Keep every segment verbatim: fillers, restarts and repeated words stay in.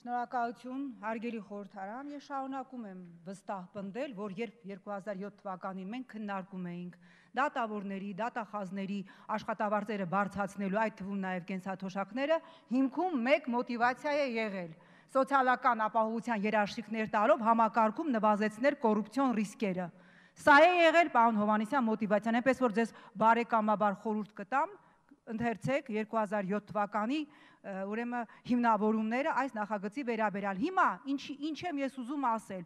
Շնորհակալություն, հարգելի խորհրդարան, ես շարունակում եմ վստահ պնդել, որ երբ երկու հազար յոթ թվականին մենք քննարկում էինք դատավորների, դատախազների աշխատավարձերը բարձրացնելու, այդ թվում նաև կենսաթոշակները, հիմքում մեկ մոտիվացիա է եղել սոցիալական ապահովության երաշխիքներ տալով համակարգում նվազեցնել կոռուպցիոն ռիսկերը։ Սա է եղել պարոն Հովհաննիսյան մոտիվացիան, այնպես որ ձեզ բարեկամաբար խորհուրդ կտամ, ընթերցեք երկու հազար յոթ թվականի ուրեմն հիմնավորումները այս նախագծի վերաբերյալ։ Հիմա ինչ եմ ես ուզում ասել,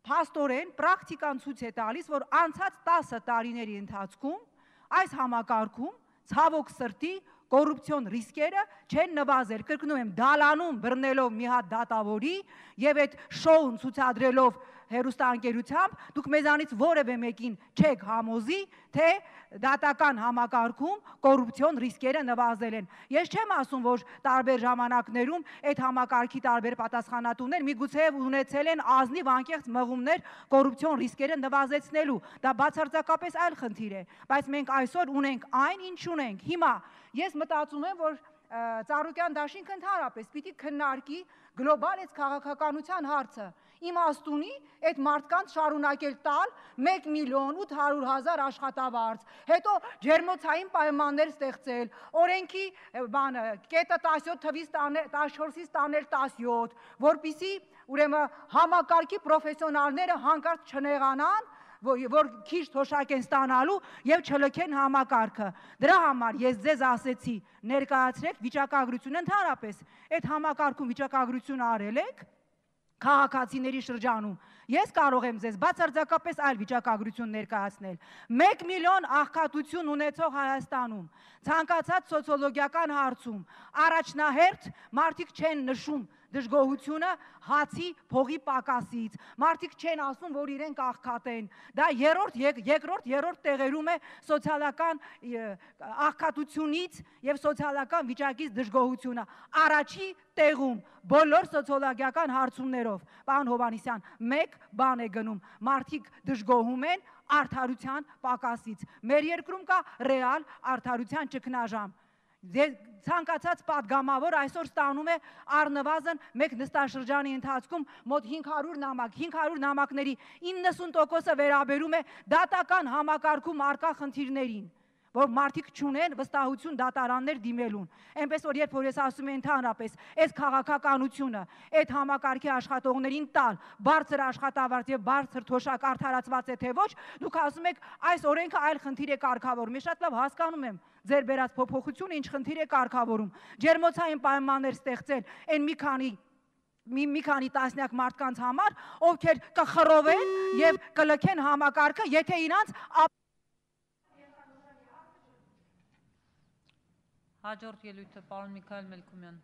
փաստորեն պրակտիկան ցույց է տալիս, որ անցած տասը տարիների ընթացքում այս համակարգում ցավոք սրտի կոռուպցիոն ռիսկերը չեն նվազել, կրկնում եմ, դալանում բռնելով մի հատ դատավորի եւ այդ շոուն ցուցադրելով հեռուստաընկերությամբ, դուք մեզանից որևէ մեկին չեք համոզի, թե դատական համակարգում կոռուպցիոն ռիսկերը նվազել են։ Ես չեմ ասում, որ տարբեր ժամանակներում այդ համակարգի տարբեր պատասխանատուներ միգուցե ունեցել են ազնիվ անկեղծ մղումներ կոռուպցիոն ռիսկերը նվազեցնելու։ Դա բացարձակապես այլ խնդիր է, բայց մենք այսօր ունենք այն, ինչ ունենք։ Հիմա ես մտածում եմ, որ Ծառուկյան դաշինքը ընդհանրապես պիտի քննարկի գլոբալ այս քաղաքականության հարցը։ Իմաստունի այդ մարդկանց շարունակել տալ մեկ միլիոն ութ հարյուր հազար աշխատավարձ, հետո ջերմոցային պայմաններ ստեղծել, օրենքի բանը կետը տասյոթ թվից տասնչորսից տանել տասյոթ, որպեսզի ուրեմն համակարգի պրոֆեսիոնալները հանկարծ չնեղանան, որ քիչ թոշակ են ստանալու եւ չլքեն համակարգը։ Դրա համար ես ձեզ ասեցի, ներկայացրեք վիճակագրությունը ընդհանրապես, այդ համակարգում վիճակագրությունը արել եք քաղաքացիների շրջանում։ Ես կարող եմ ձեզ բացարձակապես այլ վիճակագրություն ներկայացնել։ մեկ միլիոն աղքատություն ունեցող Հայաստանում, ցանկացած սոցիոլոգիական հարցում, առաջնահերթ մարդիկ չեն նշում դժգոհությունը հացի փողի պակասից, մարդիկ չեն ասում, որ իրենք աղքատ են։ Դա երրորդ, երկրորդ, երրորդ տեղերում է սոցիալական աղքատությունից եւ սոցիալական վիճակից դժգոհությունը։ Առաջի տեղում բոլոր սոցիոլոգիական հարցումներով, պարոն Հովհաննիսյան, մեկ բան է գնում, մարդիկ դժգոհում են արդարության պակասից։ Մեր երկրում կա ռեալ արդարության ճգնաժամ։ Ցանկացած պատգամավոր այսօր ստանում է առնվազն մեկ նստաշրջանի ընթացքում մոտ հինգ հարյուր նամակ, հինգ հարյուր նամակների իննսուն տոկոսը վերաբերում է դատական համակարգում առկա խնդիրներին, որ մարդիկ չունեն վստահություն դատարաններ դիմելուն։ Այնպես որ երբ որ ես ասում եմ ընդհանրապես, այս քաղաքականությունը, այդ համակարգի աշխատողներին տալ բարձր աշխատավարձ եւ բարձր թոշակ արդարացված է թե ոչ, դուք ասում եք այս օրենքը այլ խնդիր է կարգավորում։ Ես շատ լավ հասկանում եմ ձեր բերած փոփոխությունը ինչ խնդիր է կարգավորում։ Ջերմոցային պայմաններ ստեղծել այն մի քանի մի մի քանի տասնյակ մարդկանց համար, ովքեր կխռովեն եւ կլքեն համակարգը, եթե իրանց Հաջորդ ելույթը պարոն Միքայել Մելքումյան։